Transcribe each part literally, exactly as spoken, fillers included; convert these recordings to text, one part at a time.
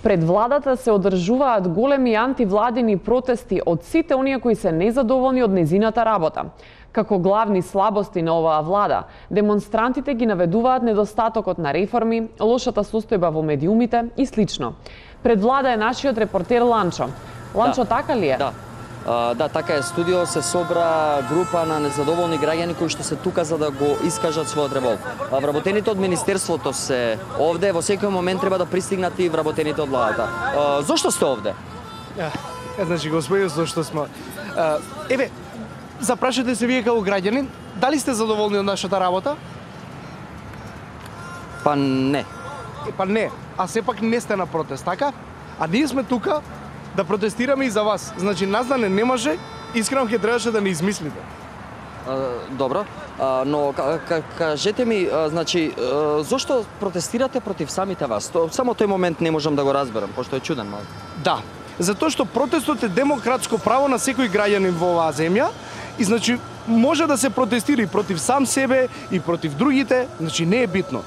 Пред владата се одржуваат големи антивладини протести од сите оние кои се незадоволни од незината работа. Како главни слабости на оваа влада, демонстрантите ги наведуваат недостатокот на реформи, лошата состојба во медиумите и слично. Пред влада е нашиот репортер Ланчо. Ланчо, да, така ли е? Да. Uh, да, така е. Студио се собра група на незадоволни граѓани кои што се тука за да го искажат својот револт. Uh, вработените од Министерството се овде, во секој момент треба да пристигнат и вработените од владата. Uh, зошто сте овде? Ja, значи, господи, зашто сме... Uh, еве, запрашате се вие како граѓанин, дали сте задоволни од нашата работа? Па не. Е, па не, а сепак не сте на протест, така? А ние сме тука да протестираме и за вас. Значи, нас да не не може, искрено ќе требаше да не измислите. Uh, добро, uh, но кажете ми, uh, значи, uh, зошто протестирате против самите вас? То, само тој момент не можам да го разберам, пошто е чуден малку. Да, затоа што протестот е демократско право на секој граѓанин во оваа земја и значи може да се протестира и против сам себе и против другите, значи не е битно.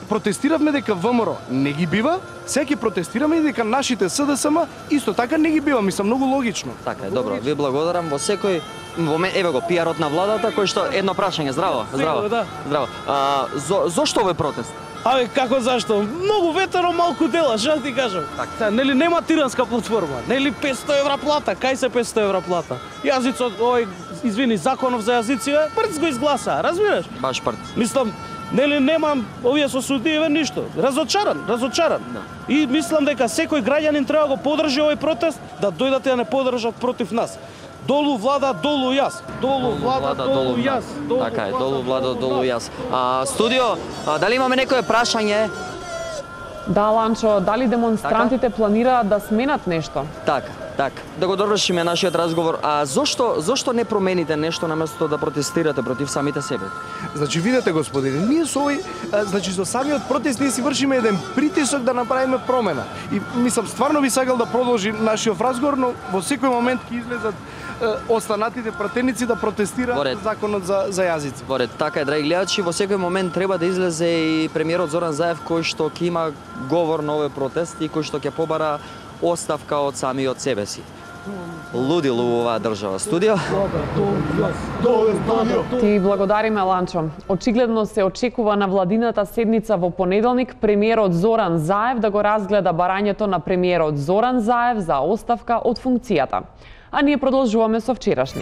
Протестиравме дека ВМРО не ги бива, сега ќе протестираме и дека нашите СДСМ исто така не ги бива, мислам многу логично. Така е, добро. Ви благодарам. Во секој момент, еве го пиарот на владата кој што едно прашање, здраво, здраво. Да. Здраво. А, зо, зошто овој протест? Абе, како зашто? Многу ветено, малку дела, што ти кажам? Така. Нели нема тиранска платформа, нели петсто евра плата, кај се петсто евра плата? Јазицот, ој, извини, законов за јазици, прц го изгласа, разбираш? Баш прц. Мислам, нели немам овие со судиеве ништо. Разочаран, разочаран. Да. И мислам дека секој граѓанин треба да го подржи овој протест, да дојдат и да не подржат против нас. Долу влада, долу јас. Долу влада, долу јас. Така е, долу влада, долу јас. А, студио, а, дали имаме некое прашање? Да, Ланчо, дали демонстрантите планираат да сменат нешто? Така, така. Да го довршиме нашиот разговор. А зошто зошто не промените нешто наместо да протестирате против самите себе? Значи видете господине, ние со овој, а, значи со самиот протест ние си вршиме еден притисок да направиме промена. И мислам стварно би сакал да продолжи нашиот разговор, но во секој момент ќе излезат останатите пратеници да протестираат законот за за јазици. Во ред, така е, драги гледачи, во секој момент треба да излезе и премиерот Зоран Заев кој што ќе има говор на овој протест и кој што ќе побара оставка од самиот себе си. Лудило оваа држава. Студио? Ти благодариме, Ланчо. Очигледно се очекува на владината седница во понеделник премиерот Зоран Заев да го разгледа барањето на премиерот Зоран Заев за оставка од функцијата. А ние продолжуваме со вчерашни.